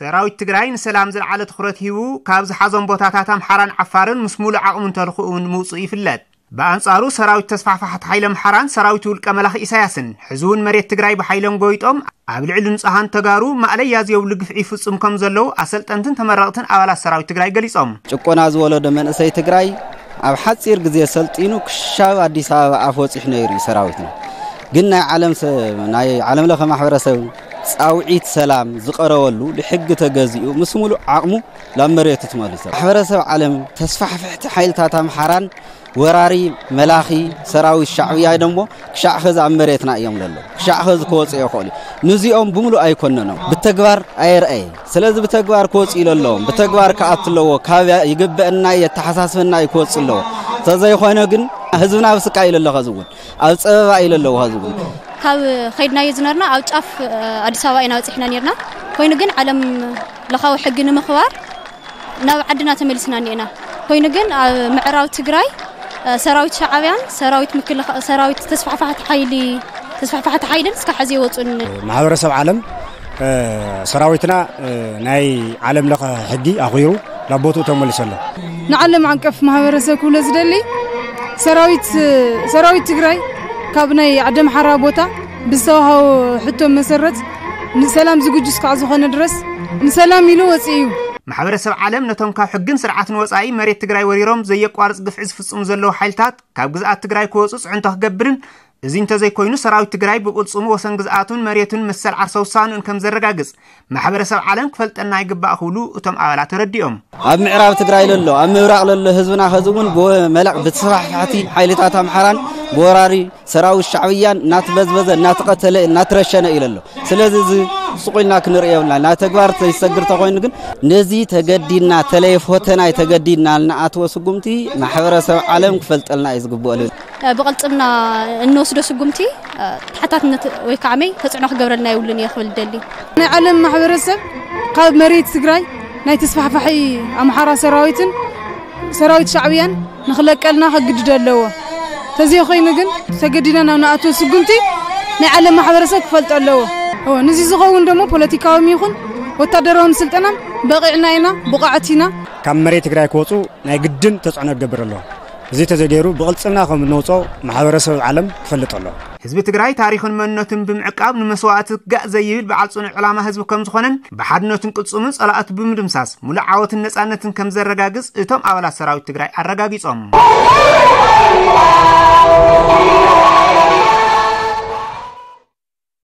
ሰራዊት ትግራይ ንሰላም ዝለዓለ ትኹረት ሂቡ ካብ ዝሓዞም ቦታታት ኣምሓራን ዓፋርን ምስ ሙሉእ ዓቕሙን ተልኽኡን ምውፅኡ ይፍለጥ። ብኣንጻሩ ሰራዊት ተስፋሕፋሕቲ ሓይሊ ኣምሓራን ሰራዊት ውልቀ መላኺ ኢሳያስን ሕዚ እውን መሬት ትግራይ ብሓይሎም ጎይጦም ኣብ ልዕሊ ንጹሃን ተጋሩ ማእለያ ዝየብሉ ግፍዒ ይፍጽሙ ከም ዘለዉ ኣሰልጠንትን ተመረቕትን ኣባላት ሰራዊት ትግራይ ገሊጾም። ጭቆና ዝወለዶ መንእሰይ ትግራይ ኣብ ሓጺር ግዜ ሰልጢኑ ክሻብ ኣዲስ ኣበባ ኣፍ ወጺሑ ነይሩ እዩ ሰራዊትና። ግን ናይ ዓለም ሰ-፣ ናይ ዓለም ለኸ ማሕበረሰብ ጻውዒት ሰላም ዝቐረበሉ ብሕጊ ተገዚኡ ምስ ሙሉእ ዓቕሙ ናብ መሬቱ ተመሊሱ። ማሕበረሰብ ዓለም ተስፋሕፍሕቲ ሓይልታት ኣምሓራን ወራሪ መላኺ ሰራዊት ሻዕብያ ደሞ ክሻዕ ኸዚ ኣብ መሬትና እዮም ለለዉ። ክሻዕ ኸዚ ክወፁ ይኽእሉ። ንዚኦም ብምሉእ ኣይኮነኖም። ብተግባር ኣየርኣየ። ስለዚ ብተግባር ክወፁ ኢለለዎም። ብተግባር ክኣቱ ኣለዎ። ካብ ይግበአና የተሓሳስበና እዩ ክወፁ ኣለዎ። ተዘይኾነ ግን ህዝብና ኣብ ስቃይ ኢለ ኣለኹ። ኸዚ እውን ኣብ ፀበባ ኢለ ኣለዎ። ኸዚ እውን ካብ ከይድናዮ ዝነበርና ኣብ ጫፍ ኣዲስ ኣበባ ኢና በፂሕና ነርና። ኮይኑ ግን ዓለም ለኻዊ ሕጊ ንምኽባር ናብ ዓድና ተመሊስና እኒኤና። ኮይኑ ግን ኣብ ምዕራብ ትግራይ ሰራዊት ሻዕብያን ሰራዊት ምክልኻ ሰራዊት ተስፋሕፋሕቲ ሓይሊ ተስፋሕፋሕቲ ሓይልን እስካ ሕዚ ይወፁን። ማሕበረሰብ ዓለም ሰራዊትና ናይ ዓለም ለኸ ሕጊ ኣኽቢሩ ናብ ቦትኡ ተመሊሱ ኣሎ። ንዓለም ዓቀፍ ማሕበረሰብ ክብሎ ዝደሊ ሰራዊት ሰራዊት ትግራይ ካብ ናይ ዓዲ ኣምሓራ ቦታ ብዝተዋሃቦ ሕቶ መሰረት ንሰላም ዝግጁ እስካዕ ዝኾነ ድረስ ንሰላም ኢሉ ወፂኡ እዩ። ማሕበረሰብ ዓለም ነቶም ካብ ሕግን ስርዓትን ወፃኢ መሬት ትግራይ ወሪሮም ዘየቋርፅ ግፍዒ ዝፍፅሙ ዘለዉ ሓይልታት ካብ ግዝኣት ትግራይ ክወፁ ፅዕንቶ ክገብርን እዚ እንተዘይኮይኑ ሰራዊት ትግራይ ብቅልፅሙ ወሰን ግዝኣቱን መሬቱን መሰል ዓርሰ ውሳንኡን ከም ዘረጋግፅ ማሕበረሰብ ዓለም ክፈልጠና ይግባእ ክብሉ እቶም ኣባላት ተረዲኦም። ኣብ ምዕራብ ትግራይ ለሎ ኣብ ምብራቕ ለሎ ህዝብና ኸዚ እውን ብመላእ ብተስፋሕፋሕቲ ሓይልታት ኣምሓራን ብወራሪ ሰራዊት ሻዕብያን እናተበዝበዘ እናተቐተለ እናተረሸነ እዩ ለሎ። ስለዚ እዚ ስቑልና ክንርእዮ የብልና። ናብ ተግባር ተይሰግር ተኾይኑ ግን ነዚ ተገዲድና ተለይ ፎተናይ ተገዲድና ንኣትዎ ስጉምቲ ማሕበረሰብ ዓለም ክፈልጠልና እዩ ዝግብኦ። ብቕልፅምና እንወስዶ ስጉምቲ ተሓታትነት ወይ ከዓ መይ ተፅዕኖ ክገብረልና የብሉን እየ ክብል ደሊ። ናይ ዓለም ማሕበረሰብ ካብ መሬት ትግራይ ናይ ተስፋሕፋሒ ኣምሓራ ሰራዊትን ሰራዊት ሻዕብያን ንኽለቀልና ከግድዶ ኣለዎ። ተዘይኮይኑ ግን ተገዲና ናብ ንኣቶ ስጉምቲ ናይ ዓለም ማሕበረሰብ ክፈልጦ ኣለዎ። እዎ፣ ንዚ ዝኸውን ደሞ ፖለቲካዎም ይኹን ወታደራዎም ስልጠናን በቒዕና ኢና፣ ብቑዓት ኢና። ካብ መሬት ትግራይ ክወፁ ናይ ግድን ተፅዕኖ ክገብር ኣለዎ። እዚ ተዘገይሩ ብቕልፅምና ከም እንወፅኦ ማሕበረሰብ ዓለም ክፈልጥ ኣለዎ። ህዝቢ ትግራይ ታሪኽን መንነቱን ብምዕቃብ ንመስዋእቲ ክጋእ ዘይብል በዓል ፅኑዕ ዕላማ ህዝቢ ከም ዝኾነን ብሓድነቱን ቅልፅሙን ፀላእቱ ብምድምሳስ ሙሉእ ዓወትን ነፃነትን ከም ዘረጋግፅ እቶም ኣባላት ሰራዊት ትግራይ ኣረጋጊፆም።